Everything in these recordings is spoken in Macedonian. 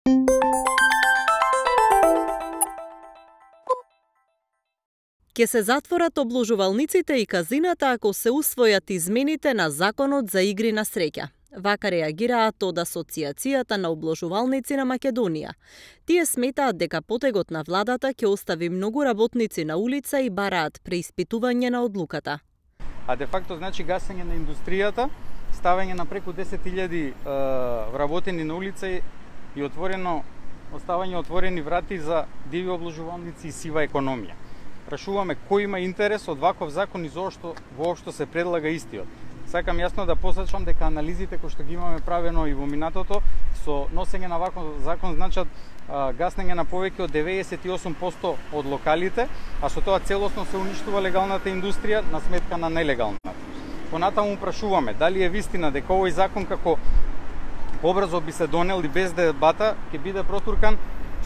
Ке се затворат обложувалниците и казината ако се усвојат измените на Законот за игри на среќа. Вака реагираат од Асоциацијата на обложувалници на Македонија. Тие сметаат дека потегот на владата ќе остави многу работници на улица и бараат преиспитување на одлуката. А де факто значи гасење на индустријата, ставање на преку 10.000 вработени на улица и оставање отворени врати за диви обложувалници и сива економија. Прашуваме кој има интерес од ваков закон и зошто воопшто се предлага истиот. Сакам јасно да посочам дека анализите кои што ги имаме правено и во минатото со носење на ваков закон значат гаснење на повеќе од 98% од локалите, а со тоа целосно се уништува легалната индустрија на сметка на нелегалната. Понатаму прашуваме дали е вистина дека овој закон како побрзо би се донел и без дебата ќе биде протуркан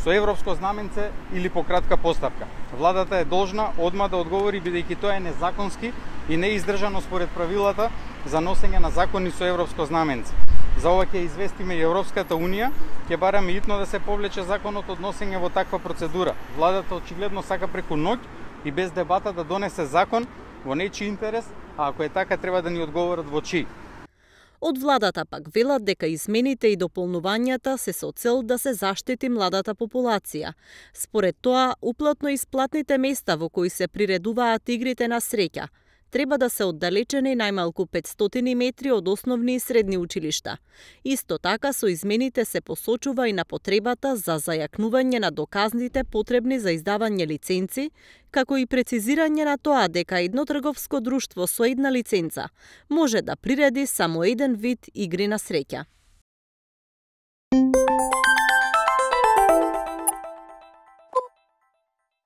со европско знаменце или по кратка поставка. Владата е должна одма да одговори бидејќи тоа е незаконски и не издржано според правилата за носење на закони со европско знаменце. За ова ќе известиме и Европската Унија, ќе бараме итно да се повлече законот од носење во таква процедура. Владата очигледно сака преку ноќ и без дебата да донесе закон во нечи интерес, а ако е така треба да ни одговорат во чии. Од владата пак велат дека измените и дополнувањата се со цел да се заштити младата популација. Според тоа, уплатно исплатните места во кои се приредуваат игрите на среќа треба да се оддалечени најмалку 500 метри од основни и средни училишта. Исто така со измените се посочува и на потребата за зајакнување на доказните потребни за издавање лиценци, како и прецизирање на тоа дека едно трговско друштво со една лиценца може да приреди само еден вид игри на среќа.